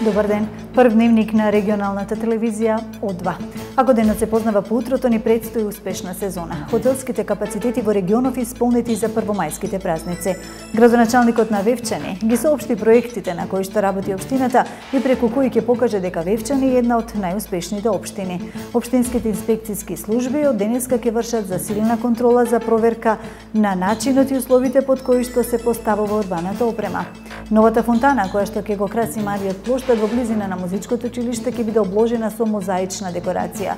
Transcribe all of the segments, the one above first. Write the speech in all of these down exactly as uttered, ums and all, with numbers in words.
Добар ден, прв дневник на регионалната телевизија О два. Ако денот се познава по утрото, ни предстои успешна сезона. Хотелските капацитети во регионов исполнети за првомајските празници. Градоначалникот на Вевчани ги соопшти проектите на кои што работи општината и преку кои ќе покаже дека Вевчани е една од најуспешните општини. Општинските инспекцијски служби од денеска ќе вршат засилена контрола за проверка на начинот и условите под кои што се поставува урбаната опрема. Новата фонтана, која што ќе го краси Мариот плоштад во близина на музичкото училиште, ќе биде обложена со мозаична декорација.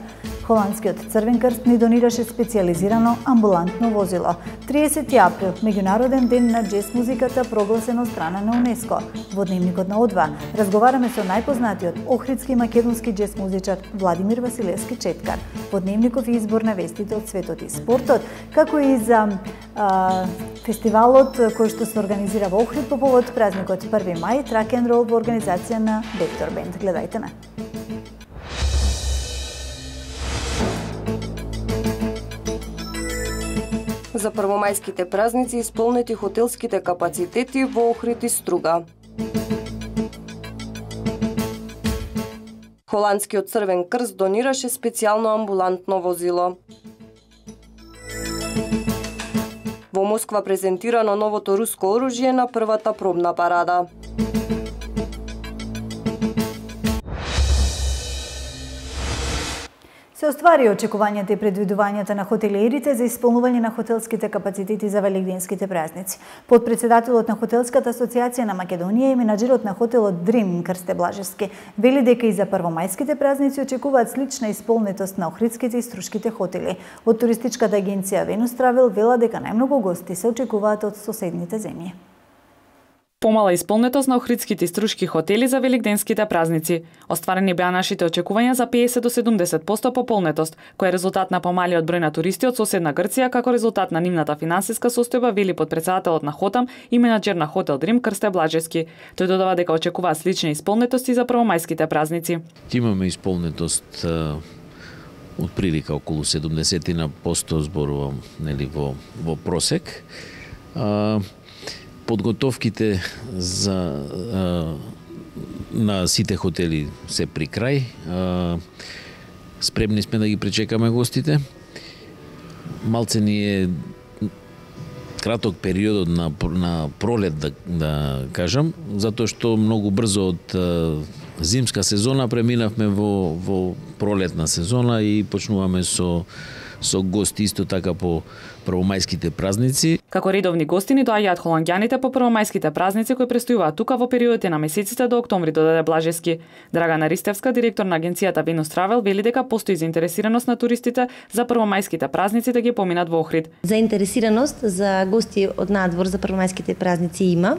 Холандскиот Црвен крст ни донираше специјализирано амбулантно возило. триесети април, меѓународен ден на џез музиката, прогласен од страна на УНЕСКО. Во дневникот на О два разговараме со најпознатиот охридски и македонски џез музичар Владимир Василевски Четкар. Во дневников избор на вестите од светот и спортот, како и за а, фестивалот кој што се организира во Охрид по повод празникот први мај, трак енд рол во организација на Вектор Бенд. Гледајте на. За првомајските празници исполнети хотелските капацитети во Охрид и Струга. Холандскиот Црвен крст донираше специјално амбулантно возило. Во Москва презентирано новото руско оружје на првата пробна парада. Се оствари очекувањата и предвидувањата на хотелиерите за исполнување на хотелските капацитети за велигденските празници. Подпредседателот на Хотелската асоциација на Македонија и менаџерот на хотелот Дрим Крсте Блажевски вели дека и за првомајските празници очекуваат слична исполнетост на охридските и струшките хотели. Од туристичката агенција Venus Travel вела дека најмногу гости се очекуваат од соседните земји. Помала исполнетост на охридските и струшки хотели за велигденските празници. Остварени беа нашите очекувања за педесет до седумдесет проценти пополнетост, кој е резултат на помалиот број на туристи од соседна Грција, како резултат на нивната финансиска состојба, вели подпредседателот на Хотам и менаџер на хотел Дрим Крсте Блажевски. Тој додава дека очекуваат слични исполнетости за првомајските празници. Имаме исполнетост од прилика околу седумдесет проценти зборувам, нели, во во просек. А, Подготовките за а, на сите хотели се при крај. А, спремни сме да ги пречекаме гостите. Малце ни е краток периодот на на пролет, да, да кажам, затоа што многу брзо од а, зимска сезона преминавме во во пролетна сезона и почнуваме со со гости исто така по првомајските празници. Како редовни гости ни доаѓаат холанѓаните по првомајските празници кои престојуваат тука во периодите на месеците до октомври, додаде Блажевски. Драгана Ристевска, директор на агенцијата Venus Travel, вели дека постои заинтересираност на туристите за првомајските празници да ги поминат во Охрид. Заинтересираност за гости од надвор за првомајските празници има.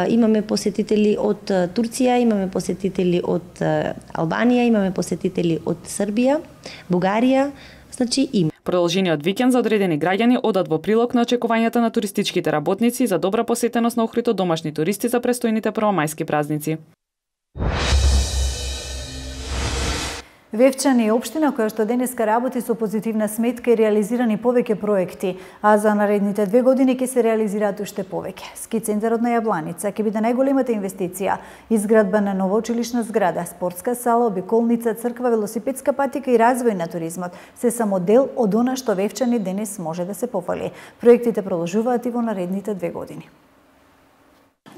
Имаме посетители од Турција, имаме посетители од Албанија, имаме посетители од Србија, Бугарија. Значи има. Продолжениот викенд за одредени граѓани одат во прилог на очекувањата на туристичките работници за добра посетеност на Охрид од домашни туристи за престојните првомајски празници. Вевчани е општина која што денеска работи со позитивна сметка и реализирани повеќе проекти, а за наредните две години ќе се реализираат уште повеќе. Ски центарот на Јабланица ќе биде најголемата инвестиција, изградба на нова училишна зграда, спортска сала, обиколница, црква, велосипедска патика и развој на туризмот се само дел од она што Вевчани денес може да се пофали. Проектите продолжуваат и во наредните две години.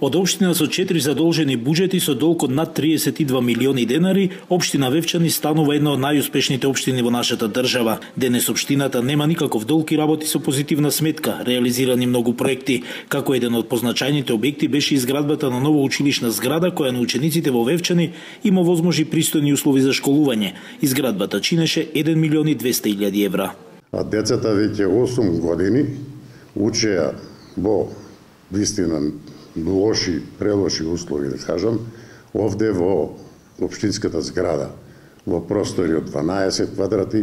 Од општина со четири задолжени буџети со долг од над триесет и два милиони денари, општина Вевчани станува една од најуспешните општини во нашата држава. Денес општината нема никаков долг и работи со позитивна сметка, реализирани многу проекти. Како еден од позначајните објекти беше изградбата на нова училишна зграда која на учениците во Вевчани им овозможи пристојни услови за школување. Изградбата чинеше еден милион и двесте илјади евра. А децата веќе осум години учеа во вистина лоши, прелоши услови, да кажам, овде во општинската зграда, во простори од дванаесет квадрати,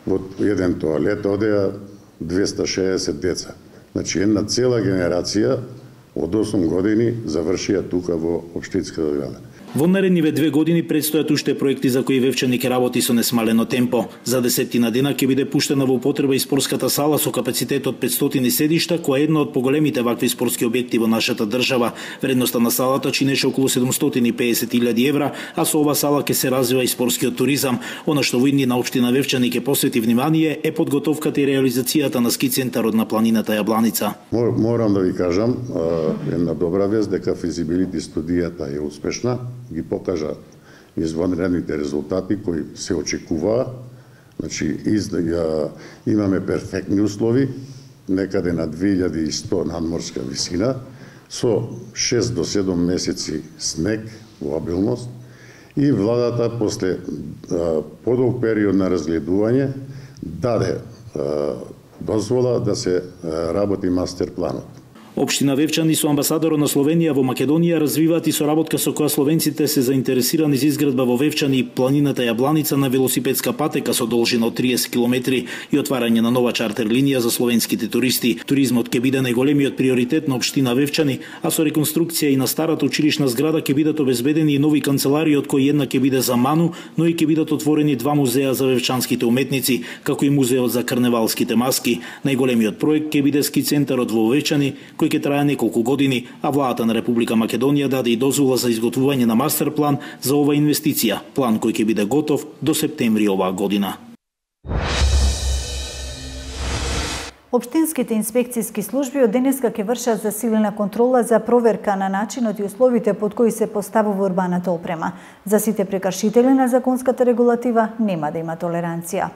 во еден тоалет одеа двесте шеесет деца. Значи, една цела генерација од осум години завршија тука во општинската зграда. Во наредниве две години предстојат уште проекти за кои Вевчани ќе работи со несмалено темпо. За десеттина дена ќе биде пуштена во употреба и спортската сала со капацитет од петстотини седишта, која е една од поголемите вакви спортски објекти во нашата држава. Вредноста на салата чинеше околу седумстотини и педесет илјади евра, а со ова сала ќе се развива и спортскиот туризам. Она што во иднина општина Вевчани ќе посвети внимание е подготовката и реализацијата на ски центарот на планината Јабланица. Морам да ви кажам една добра вест дека физибилити студијата е успешна, ги покажа извонредните резултати кои се очекуваа. Значи, из, ја, имаме перфектни услови, некаде на две илјади и сто надморска висина, со шест до седум месеци снег во обилност, и владата после а, подолг период на разгледување даде а, дозвола да се а, работи мастер планот. Општина Вевчани со амбасадорот на Словенија во Македонија развиваат и соработка со која словенците се заинтересирани за изградба во Вевчани и планината Јабланица на велосипедска патека со должина од триесет километри и отварање на нова чартер линија за словенските туристи. Туризмот ќе биде најголемиот приоритет на општина Вевчани, а со реконструкција и на старата училишна зграда ќе бидат обезбедени и нови канцеларии, од кои една ќе биде за Ману, но и ќе бидат отворени два музеа за вевчанските уметници, како и музеот за карневалските маски. Најголемиот проект ќе биде ски центарот во Вевчани, кој ќе трае неколку години, а владата на Република Македонија даде и дозвола за изготвување на мастер план за ова инвестиција, план кој ќе биде готов до септември оваа година. Општинските инспекцијски служби од денеска ќе вршат засилена контрола за проверка на начинот и условите под кои се поставува урбаната опрема. За сите прекршители на законската регулатива нема да има толеранција.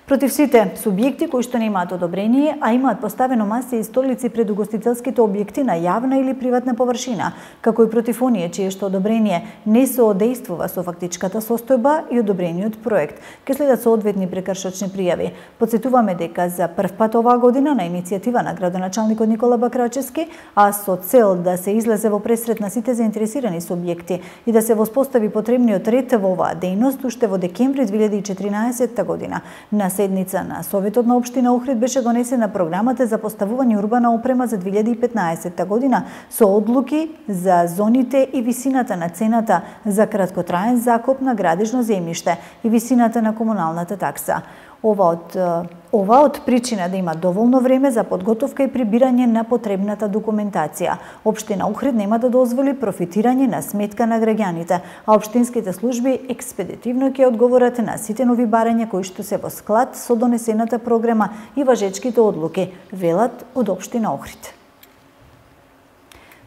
Против сите субјекти кои што немаат одобрение, а имаат поставено маси и столици пред угостителските објекти на јавна или приватна површина, како и против оние чие што одобрение не соодействува со фактичката состојба и одобрениот проект, ке следат соодветни прекршочни пријави. Подсетуваме дека за прв пат оваа година на иницијатива на градоначалникот Никола Бакрачевски, а со цел да се излезе во пресрет на сите заинтересирани субјекти и да се воспостави потребниот ред во оваа дејност, уште во декември две илјади и четиринаесетта година на седница на Советот на општина Охрид беше донесена програмата за поставување урбана опрема за две илјади и петнаесетта година со одлуки за зоните и висината на цената за краткотраен закуп на градежно земјиште и висината на комуналната такса. Ова од, ова од причина да има доволно време за подготовка и прибирање на потребната документација. Општина Охрид нема да дозволи профитирање на сметка на граѓаните, а општинските служби експедитивно ќе одговорат на сите нови барања кои што се во склад со донесената програма и важечките одлуки, велат од општина Охрид.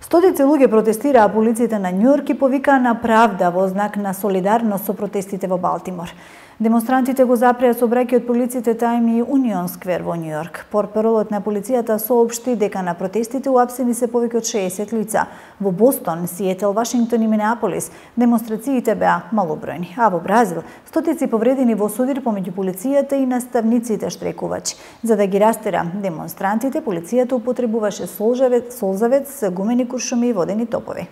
Стотици луѓе протестираа, а полицијата на Њујорк и повикаа на правда во знак на солидарност со протестите во Балтимор. Демонстрантите го запреа сообраќај од полициите Тајм и Унион сквер во Њујорк. Портпаролот на полицијата соопшти дека на протестите уапсени се повеќе од шеесет лица. Во Бостон, Сиетл, Вашингтон и Минеаполис демонстрациите беа малобројни, а во Бразил стотици повредени во судир помеѓу полицијата и наставниците штрекувачи. За да ги растера демонстрантите, полицијата употребуваше солзавец, солзавец, гумени куршуми и водени топови.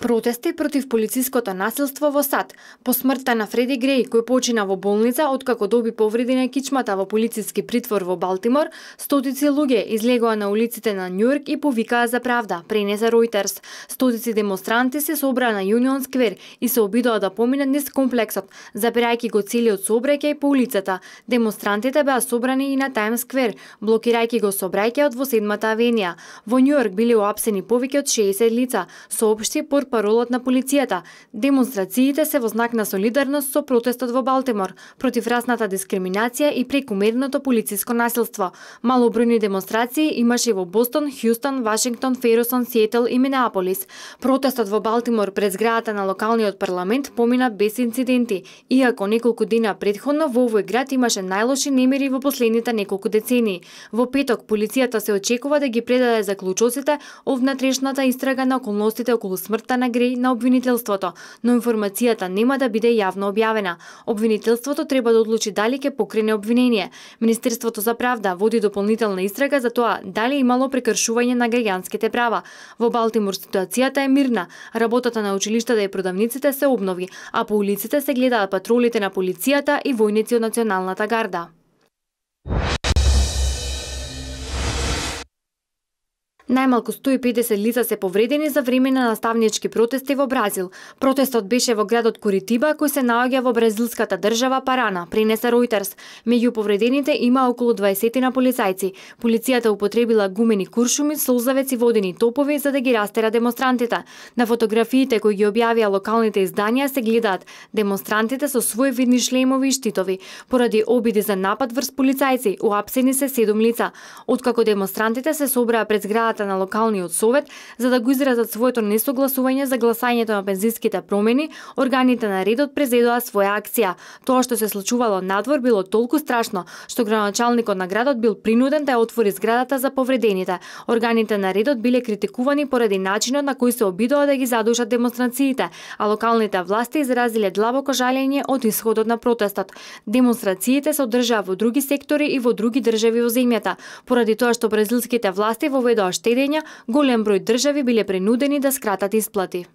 Протести против полициското насилство во САД по смртта на Фреди Греј, кој почина во болница откако доби повреди на кичмата во полициски притвор во Балтимор, стотици луѓе излегоа на улиците на Њујорк и повикаа за правда, пренесе Ројтерс. Стотици демонстранти се собраа на Юнион сквер и се обидоа да поминат низ комплексот, запирајќи го целиот сообраќај по улицата. Демонстрантите беа собрани и на Тајм сквер, блокирајќи го сообраќајот во седмата авенија. Во Њујорк биле уапсени повеќе од шеесет лица, соопшти портпаролот на полицијата. Демонстрациите се во знак на солидарност со протестот во Балтимор против расната дискриминација и прекумерното полициско насилство. Малобројни демонстрации имаше во Бостон, Хјустон, Вашингтон, Ферусон, Сиетл и Минеаполис. Протестот во Балтимор пред зградата на локалниот парламент помина без инциденти, иако неколку дена претходно во овој град имаше најлоши немири во последните неколку децении. Во петок полицијата се очекува да ги предаде заклучоците од внатрешната истрага на околностите околу смртта на Греј на обвинителството, но информацијата нема да биде јавно објавена. Обвинителството треба да одлучи дали ќе покрене обвинение. Министерството за правда води дополнителна истрага за тоа дали имало прекршување на граѓанските права. Во Балтимор ситуацијата е мирна, работата на училиштата и продавниците се обнови, а по улиците се гледаат патролите на полицијата и војници од Националната гарда. Најмалку сто и педесет лица се повредени за време на наставнички протести во Бразил. Протестот беше во градот Куритиба, кој се наоѓа во бразилската држава Парана, пренесе Reuters. Меѓу повредените има околу дваесет на полицајци. Полицијата употребила гумени куршуми, солзавец и водени топови за да ги растера демонстрантите. На фотографиите кои ги објавија локалните изданија се гледаат демонстрантите со свои видни шлемови и штитови. Поради обиди за напад врз полицајци, уапсени се седум лица. Откако демонстрантите се собраа пред зградата на локалниот совет за да го изразат своето несогласување за гласањето на пензиските промени, органите на редот презедоа своја акција. Тоа што се случувало надвор било толку страшно што градоначалникот на градот бил принуден да ја отвори зградата за повредените. Органите на редот биле критикувани поради начинот на кој се обидоа да ги задушат демонстрациите, а локалните власти изразиле длабоко жалење од исходот на протестот. Демонстрациите се одржаа во други сектори и во други држави во земјата. Поради тоа што бразилските власти воведоа штедења, голем број држави биле принудени да скратат исплати.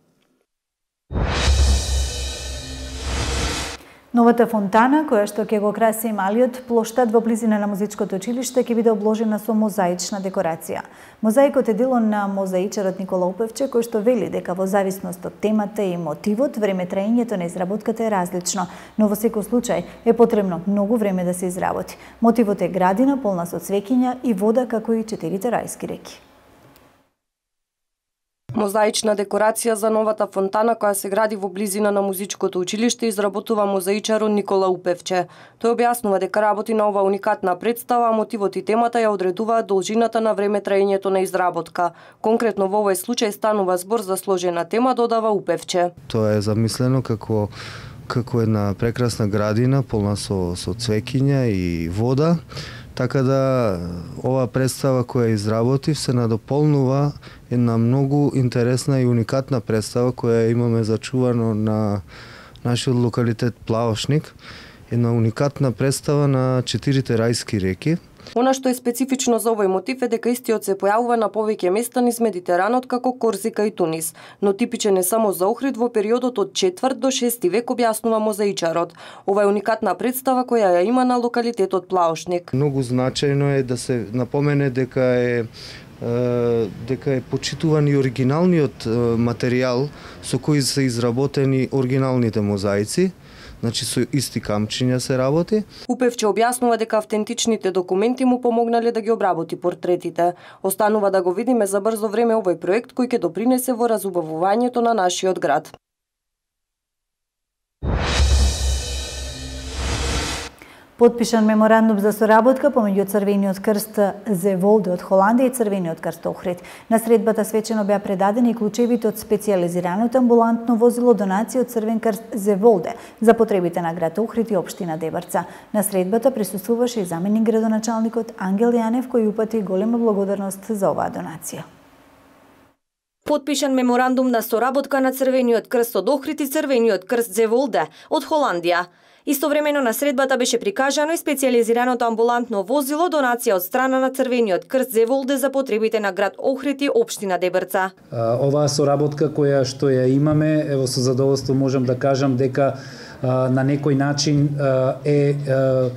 Новата фонтана, која што ќе го краси малиот плоштад во близина на музичкото училиште, ќе биде обложена со мозаична декорација. Мозаикот е дело на мозаичарот Никола Упевче, кој што вели дека во зависност од темата и мотивот, време траењето на изработката е различно, но во секој случај е потребно многу време да се изработи. Мотивот е градина полна со цвеќиња и вода, како и четирите рајски реки. Мозаична декорација за новата фонтана која се гради во близина на музичкото училиште изработува мозаичарот Никола Упевче. Тој објаснува дека работи на ова уникатна представа, а мотивот и темата ја одредуваат должината на време траењето на изработка. Конкретно во овој случај станува збор за сложена тема, додава Упевче. Тоа е замислено како како една прекрасна градина полна со со цвеќиња и вода. Така да ова представа која изработив се надополнува една многу интересна и уникатна представа која имаме зачувано на нашиот локалитет Плавошник. Една уникатна представа на четирите рајски реки. Она што е специфично за овој мотив е дека истиот се појавува на повеќе места низ Медитеранот како Корзика и Тунис, но типичен е само за Охрид во периодот од четврт до шести век, објаснува мозаичарот. Ова е уникатна представа која ја има на локалитетот Плавошник. Многу значајно е да се напомене дека е дека е почитуван и оригиналниот материјал со кој се изработени оригиналните мозаици. Значи со исти камчиња се работи. Упевче објаснува дека автентичните документи му помогнале да ги обработи портретите. Останува да го видиме за брзо време овој проект кој ќе допринесе во разубавувањето на нашиот град. Потпишан меморандум за соработка помеѓу Црвениот крст Зеволде од Холандија и Црвениот крст Охрид. На средбата свечено беа предадени клучевите од специјализираното амбулантно возило донација од Црвен крст Зеволде за потребите на град Охрид и општина Дебарца. На средбата присуствуваше и заменик градоначалникот Ангел Јанев, кој упати голема благодарност за оваа донација. Потпишан меморандум на соработка на Црвениот крст од Охрид и Црвениот крст Зеволде од Холандија. Истовремено на средбата беше прикажано и специјализираното амбулантно возило донација од страна на Црвениот крст Зеволде за потребите на град Охрид и општина Дебарца. Оваа соработка која што ја имаме, ево со задоволство можам да кажам дека а, на некој начин а, е а,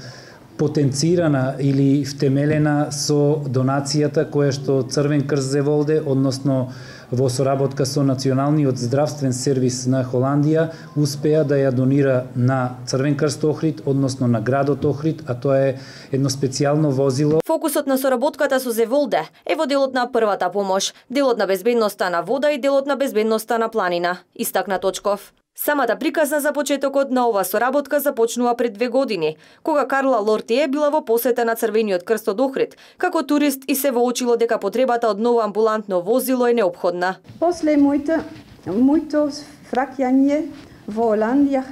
потенцирана или втемелена со донацијата која што Црвен крст Зеволде, односно во соработка со Националниот здравствен сервис на Холандија, успеа да ја донира на Црвен крст Охрид, односно на градот Охрид, а тоа е едно специјално возило. Фокусот на соработката со Зеволде е во делот на првата помош, делот на безбедноста на вода и делот на безбедноста на планина, истакна Точков. Самата приказна за почетокот на ова соработка започнува пред две години, кога Карла Лортие била во посета на Црвениот крст од Охрид, како турист и се воочило дека потребата од ново амбулантно возило е неопходна. После моето, моето фраќање во Оландија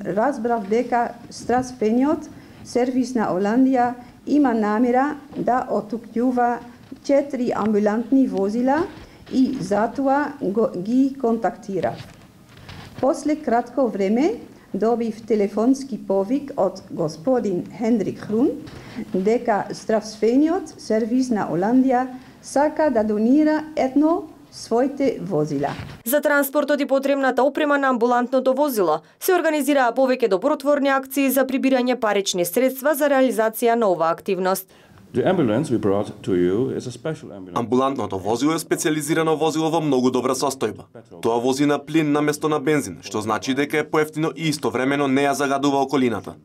разбрав дека Здравствениот сервис на Оландија има намера да отукјува четири амбулантни возила и затоа го, ги контактирав. После кратко време добив телефонски повик од господин Хендрик Хрун дека Здравствениот сервис на Оландија сака да донира едно своите возила. За транспортот и потребната опрема на амбулантното возило се организираа повеќе добротворни акции за прибирање парични средства за реализација на оваа активност. The ambulance we brought to you is a special ambulance. Амбулантното возило е специализирано возило во многу добра состојба. Тоа вози на плин наместо на бензин, што значи дека е поевтино и истовремено не ја загадува околината.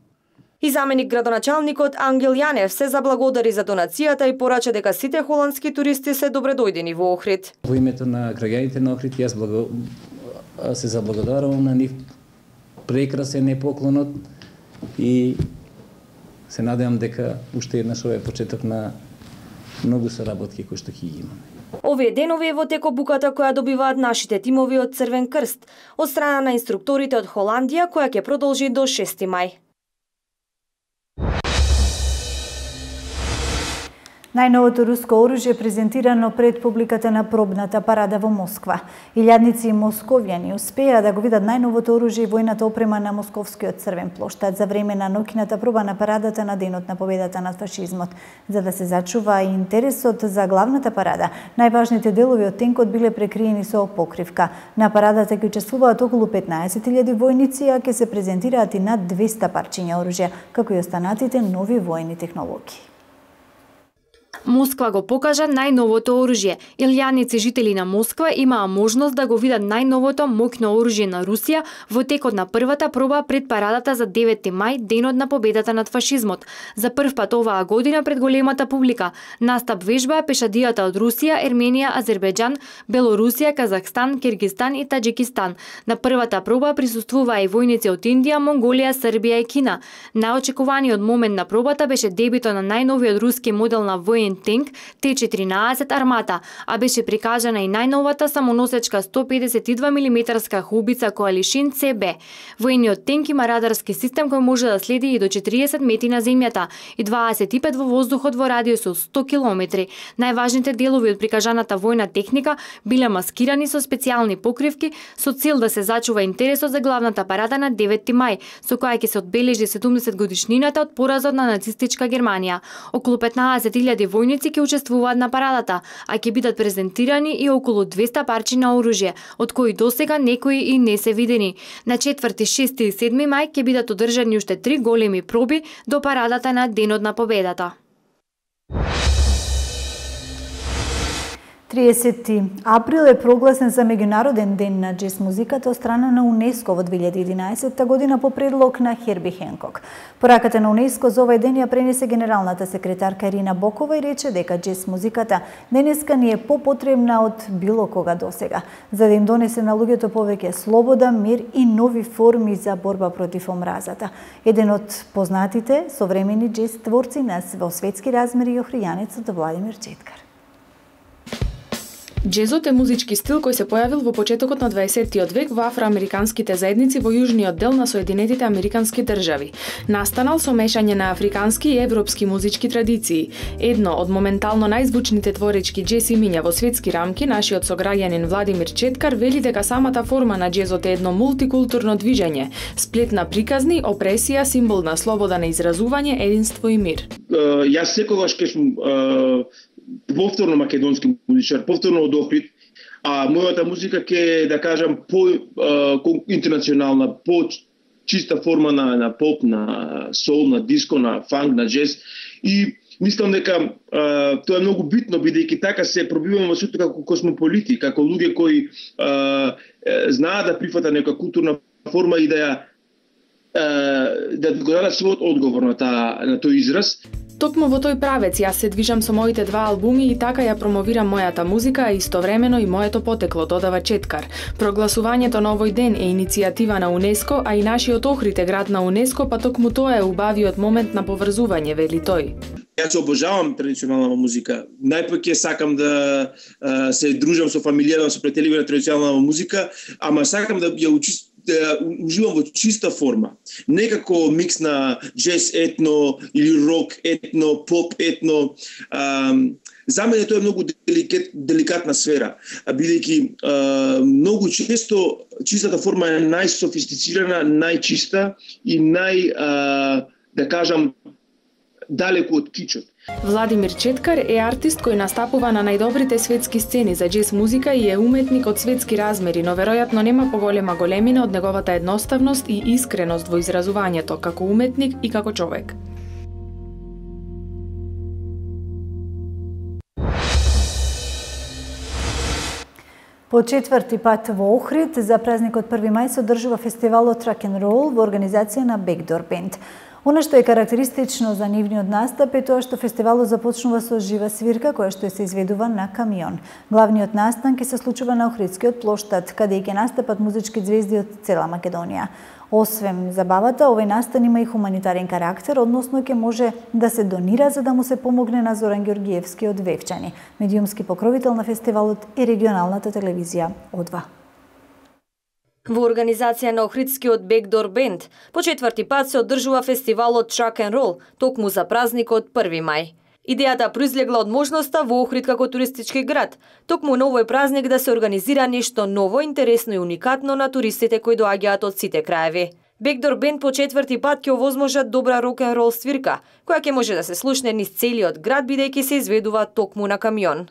И заменик градоначалникот Ангел Јанев се заблагодари за донацијата и порача дека сите холандски туристи се добредојдени во Охрид. Во името на граѓаните на Охрид јас благо... се заблагодарувам на нив. Прекрасен е поклонот и се надевам дека уште еднаш ова е почеток на многу соработки кои што ќе ги имаме. Овие денови е во тек обуката која добиваат нашите тимови од Црвен крст, од страна на инструкторите од Холандија, која ќе продолжи до шести мај. Најновото руско оружје презентирано пред публиката на пробната парада во Москва. Илјадници московјани успеа да го видат најновото оружје и војната опрема на Московскиот црвен плоштад за време на ноќната проба на парадата на денот на победата над фашизмот. За да се зачува и интересот за главната парада, најважните делови од тенкот биле прекриени со покривка. На парадата ќе учествуваат околу петнаесет илјади војници, а ќе се презентираат и над двесте парчиња оружје, како и останатите нови војни технологии. Москва го покажа најновото оружје. Илјадници жители на Москва имаа можност да го видат најновото моќно оружје на Русија во текот на првата проба пред парадата за деветти мај, денот на победата над фашизмот. За прв пат оваа година пред големата публика настап вежба пешадијата од Русија, Ерменија, Азербејџан, Белорусија, Казахстан, Киргизстан и Таџикистан. На првата проба присуствуваа и војници од Индија, Монголија, Србија и Кина. Најочекуваниот момент на пробата беше дебитот на најновиот руски модел на воен тенк Т четиринаесет Армата, а беше прикажана и најновата самоносечка сто педесет и два милиметарска хаубица Коалишин Ц Б. Воениот тенк има радарски систем кој може да следи и до четириесет метри на земјата и дваесет и пет во воздухот во радиус од сто километри. Најважните делови од прикажаната војна техника биле маскирани со специјални покривки со цел да се зачува интересот за главната парада на деветти мај, со која ќе се одбележи седумдесет годишнината од поразот на нацистичка Германија. Околу петнаесет илјади војници ќе учествуваат на парадата, а ќе бидат презентирани и околу двесте парчиња оружје, од кои досега некои и не се видени. На четврти, шести и седми мај ќе бидат одржани уште три големи проби до парадата на денот на победата. триесети април е прогласен за меѓународен ден на џез музиката од страна на УНЕСКО во две илјади и единаесетта година по предлог на Херби Хенкок. Пораката на УНЕСКО за овој ден ја пренесе генералната секретарка Ирина Бокова и рече дека џез музиката денеска ни е попотребна од било кога досега, за да им донесе на луѓето повеќе слобода, мир и нови форми за борба против омразата. Еден од познатите современи џез творци нас во светски размери охријанецот Владимир Четкар. Џезот е музички стил кој се појавил во почетокот на дваесеттиот век во афроамериканските заедници во јужниот дел на Соединетите американски држави. Настанал со мешање на африкански и европски музички традиции. Едно од моментално најзвучните творечки џез имиња во светски рамки, нашиот сограѓанин Владимир Четкар вели дека самата форма на џезот е едно мултикултурно движење, сплет на приказни, опресија, символ на слобода на изразување, единство и мир. Uh, јас секогаш ке сум uh... повторно македонски музичар, повторно од Охрид, а мојата музика ќе, да кажам, по а, интернационална, по чиста форма на, на поп, на сол, на диско, на фанк, на џез. И мислам дека а, тоа е многу битно, бидејќи така се пробиваме во светот како космополити, како луѓе кои а, знаат да прифатат нека културна форма и да ја да го дадат својот одговор на, та, на тој израз. Токму во тој правец јас се движам со моите два албуми и така ја промовирам мојата музика, а истовремено и моето потекло, додава Четкар. Прогласувањето на овој ден е иницијатива на УНЕСКО, а и нашиот Охрид е град на УНЕСКО, па токму тоа е убавиот момент на поврзување, вели тој. Јас обожавам традиционална музика. Најпак ќе сакам да а, се дружам со фамилија, со пријатели на традиционална музика, ама сакам да ја учи да уживам во чиста форма. Не како микс на џез етно или рок етно, поп етно. А, за мене тоа е многу деликат, деликатна сфера, бидејќи многу често чистата форма е најсофистицирана, најчиста и нај, а, да кажам, далеку од кичот. Владимир Четкар е артист кој настапува на најдобрите светски сцени за џез музика и е уметник од светски размери, но веројатно нема поголема големина од неговата едноставност и искреност во изразувањето како уметник и како човек. По четврти пат во Охрид за празникот први мај се одржува фестивалот Rock and Roll во организација на Backdoor Band. Она што е карактеристично за нивниот настап е тоа што фестивалот започнува со жива свирка која што се изведува на камион. Главниот настан ќе се случува на Охридскиот плоштад, каде ќе настапат музички ѕвезди од цела Македонија. Освен забавата, овој настан има и хуманитарен карактер, односно ќе може да се донира за да му се помогне на Зоран Ѓоргиевски од Вевчани. Медиумски покровител на фестивалот е регионалната телевизија О два. Во организација на Охридскиот Backdoor Band по четврти пат се одржува фестивалот Rock and Roll, токму за празникот први мај. Идејата произлегла од можноста во Охрид како туристички град, токму на овој празник да се организира нешто ново, интересно и уникатно на туристите кои доаѓаат од сите краеви. Backdoor Band по четврти пат ќе овозможат добра рок-н-рол свирка, која ќе може да се слушне низ целиот град бидејќи се изведува токму на камион.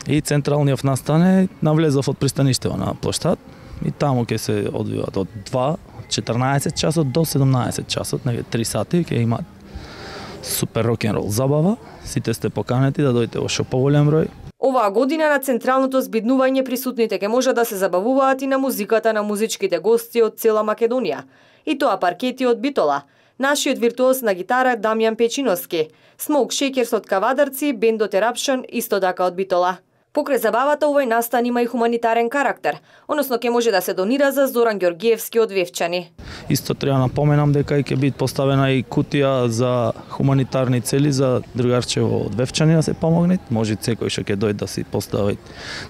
И централниот настан е навлезов од пристаништето на плоштад и таму ќе се одвиваат од два, четрнаесет часот до седумнаесет часот, неге три сати ќе имаат супер рок-н-рол забава. Сите сте поканети да дојдете во шо поголем број. Оваа година на централното збиднување присутните ќе може да се забавуваат и на музиката на музичките гости од цела Македонија. И тоа паркети од Битола, нашиот виртуоз на гитара Дамјан Печиновски, Smoke Shakers од Кавадарци, бендот Eruption исто така од Битола. Покрај забавата, овој настан има и хуманитарен карактер, односно ќе може да се донира за Зоран Ѓоргиевски од Вевчани. Исто треба напоменам дека ќе биде поставена и кутија за хуманитарни цели за другарчево од Вевчани да се помогне. Може секој што ќе дојде да си постави,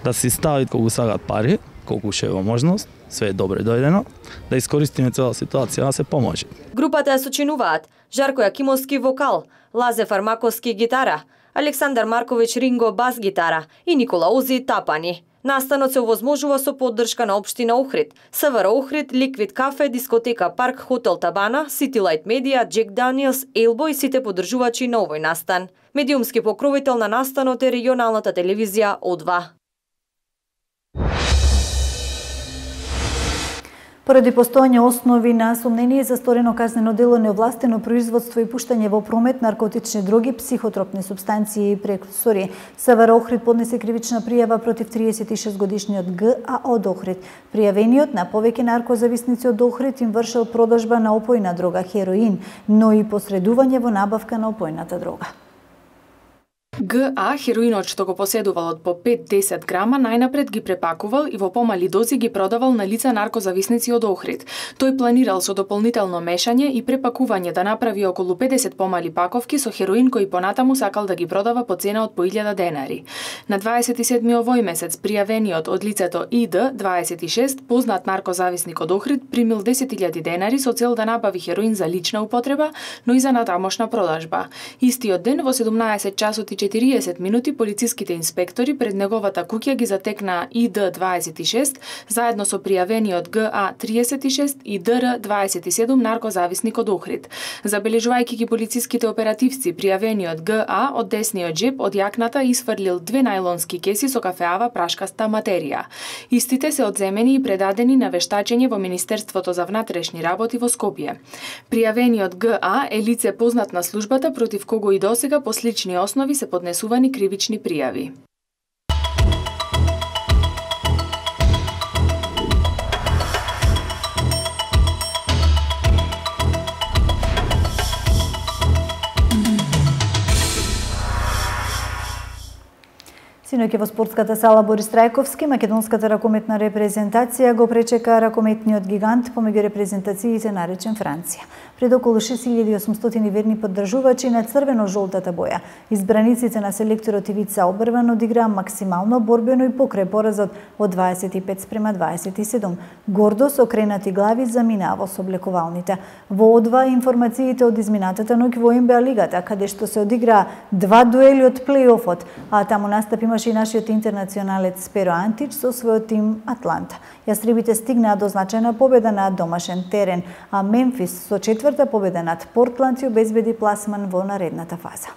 да си стави колку сакаат пари, колку ше е во можност, све е добре дојдено, да искористиме цела ситуација да се поможе. Групата ја сочинуваат Жарко Јакимовски вокал, Лазе Фармаковски гитара, Александар Марковиќ Ринго бас гитара и Никола Ози тапани. Настанот се овозможува со поддршка на општина Охрид, СВР Охрид, Ликвид кафе, дискотека Парк, Хотел Табана, City Light Media, Джек Даниелс, Елбо и сите поддржувачи на овој настан. Медиумски покровител на настанот е регионалната телевизија О два. Поради постојање основи на сомнение за сторено казнено дело неовластено производство и пуштање во промет наркотични дроги, психотропни супстанции и прекурсори, СВР Охрид поднесе кривична пријава против триесет и шест годишниот Г А од Охрид. Пријавениот на повеќе наркозависници од Охрид им вршел продажба на опојна дрога хероин, но и посредување во набавка на опојната дрога. Г А хероинот што го поседувал од по пет до десет грама најнапред ги препакувал и во помали дози ги продавал на лица наркозависници од Охрид. Тој планирал со дополнително мешање и препакување да направи околу педесет помали паковки со хероин кој понатаму сакал да ги продава по цена од по илјада денари. На дваесет и седми овој месец пријавениот од лицето И Д дваесет и шест, познат наркозависник од Охрид, примил десет илјади денари со цел да набави хероин за лична употреба, но и за натамошна продажба. Истиот ден во седумнаесет часот и четириесет минути полициските инспектори пред неговата куќа ги затекнаа И Д дваесет и шест заедно со пријавениот Г А триесет и шест и Д Р дваесет и седум наркозависник од Охрид. Забележувајќи ги полициските оперативци, пријавениот Г А од десниот джеб од јакната исфрлил две најлонски кеси со кафеава прашкаста материја. Истите се одземени и предадени на вештачење во Министерството за внатрешни работи во Скопје. Пријавениот Г А е лице познат на службата против кого и досега по слични основи се поднесувани кривични пријави. Синоќ во спортската сала Борис Трајковски, македонската ракометна репрезентација го пречека ракометниот гигант помеѓу репрезентациите наречен Франција. Пред околу шест илјади и осумстотини верни поддржувачи на црвено-жолтата боја, избраниците на селекторот Ивица Обрван одиграа максимално борбено и покрај поразот од дваесет и пет спрема дваесет и седум. Гордо со окренати глави заминаа во соблекувалните. Во О два информациите од изминатата ноќ во Н Б А лигата, каде што се одиграа два дуели од плејофот, а таму настап имаше и нашиот интернационалец Перо Антич со својот тим Атланта. Јастребите стигнаа до значајна победа на домашен терен, а Мемфис со четврта победа над Портланд ја обезбеди пласман во наредната фаза.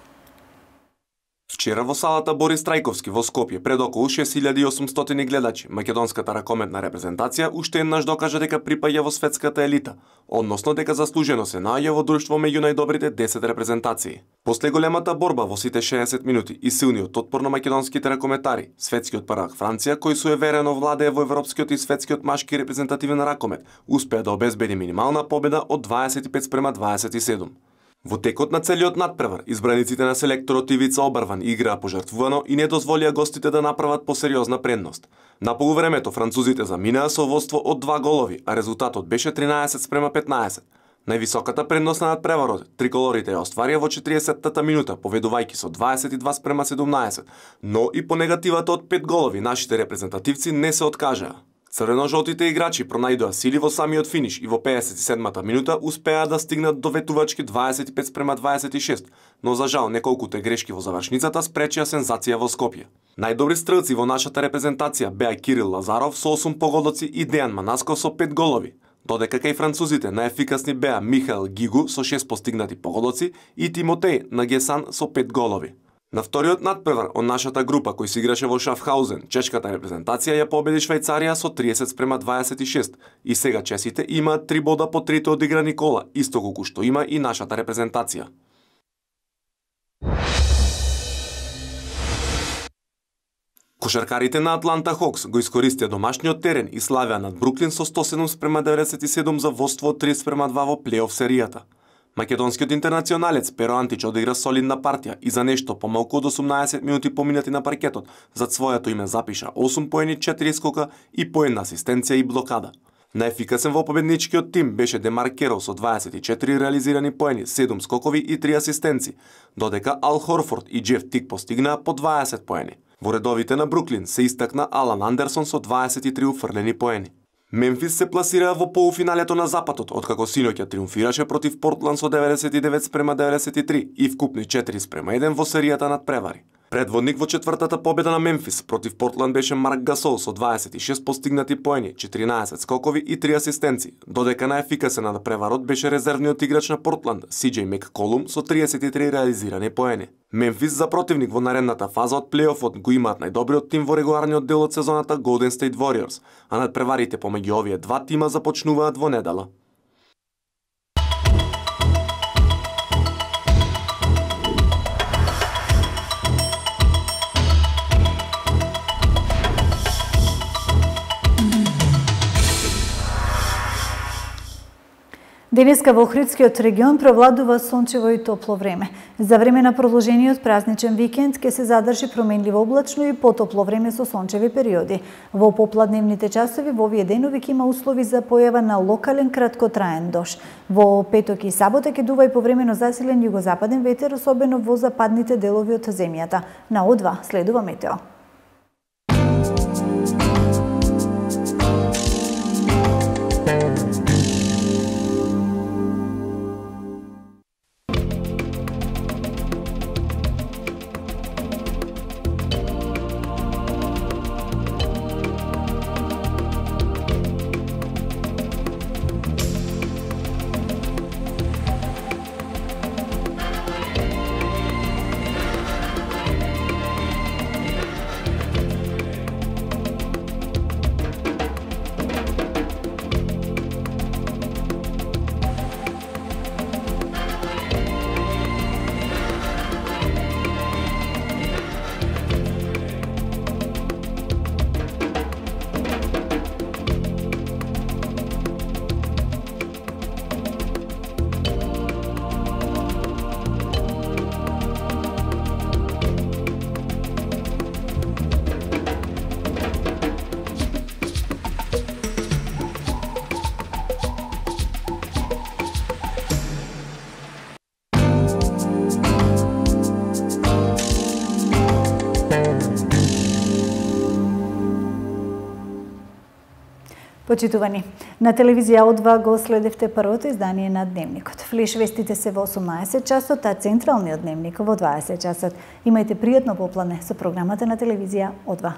Вчера во салата Борис Трајковски во Скопје пред околу шест илјади и осумстотини гледачи, македонската ракометна репрезентација уште еднаш докажа дека припаѓа во светската елита, односно дека заслужено се наоѓа во друштво меѓу најдобрите десет репрезентации. После големата борба во сите шеесет минути и силниот отпор на македонските ракометари, светскиот первак Франција, кој суеверено владее во европскиот и светскиот машки репрезентативен ракомет, успеа да обезбеди минимална победа од дваесет и пет спрема дваесет и седум. Во текот на целиот надпревар, избраниците на селекторот Ивица Обарван играа пожртвувано и не дозволија гостите да направат посериозна предност. На полувремето французите заминаа со водство од два голови, а резултатот беше тринаесет спрема петнаесет. Највисоката предност на надпреварот триколорите ја остварија во четириесеттата минута, поведувајќи со дваесет и два спрема седумнаесет, но и по негативата од пет голови нашите репрезентативци не се откажаа. Црвено-жолтите играчи пронајдоа сили во самиот финиш и во пеесет и седмата минута успеа да стигнат до ветувачки дваесет и пет спрема дваесет и шест, но за жал неколкуте грешки во завршницата спречија сензација во Скопје. Најдобри стрелци во нашата репрезентација беа Кирил Лазаров со осум погодоци и Дејан Манасков со пет голови, додека кај французите најефикасни беа Михаел Гигу со шест постигнати погодоци и Тимотеј Нагесан со пет голови. На вториот надпревар од нашата група кој се играше во Шафхаузен, чешката репрезентација ја победи Швајцарија со триесет спрема дваесет и шест и сега чесите имаат три бода по трите одиграни кола, исто колку што има и нашата репрезентација. Кошаркарите на Атланта Хокс го искористија домашниот терен и славеа над Бруклин со сто седум спрема деветдесет и седум за водство од тридесет спрема два во плейоф серијата. Македонскиот интернационалец Перо Антич одигра солидна партија и за нешто помалку од осумнаесет минути поминати на паркетот, зад своето име запиша осум поени, четири скока и по една асистенција и блокада. Најефикасен во победничкиот тим беше Демар Керол со дваесет и четири реализирани поени, седум скокови и три асистенци, додека Ал Хорфорд и Джеф Тик постигнаа по дваесет поени. Во редовите на Бруклин се истакна Алан Андерсон со дваесет и три уфрлени поени. Мемфис се пласира во полуфиналето на Западот, откако синоќа триумфираше против Портланд со деветдесет и девет спрема деветдесет и три и вкупни четири спрема еден во серијата надпревари. Предводник во четвртата победа на Мемфис против Портланд беше Марк Гасол со дваесет и шест постигнати поени, четиринаесет скокови и три асистенци, додека најефикасен на надпреварот беше резервниот играч на Портланд, Си Џеј Мекколум со триесет и три реализирани поени. Мемфис за противник во наредната фаза од плейофот го имаат најдобриот тим во регуларниот дел од сезоната Golden State Warriors, а надпреварите помеѓу овие два тима започнуваат во недела. Денеска во Охридскиот регион провладува сончево и топло време. За време на продолжениот празничен викенд ќе се задржи променливо облачно и потопло време со сончеви периоди. Во попладневните часови во овие денови ќе има услови за појава на локален краткотраен дожд. Во петок и сабота ќе дува и повремено засилен југозападен ветер, особено во западните делови од земјата. На О два следува метео. Почитувани, на телевизија О два го следевте првото издание на Дневникот. Флеш вестите се во осумнаесет часот, а централниот дневник во дваесет часот. Имајте пријатно попладне со програмата на телевизија О два.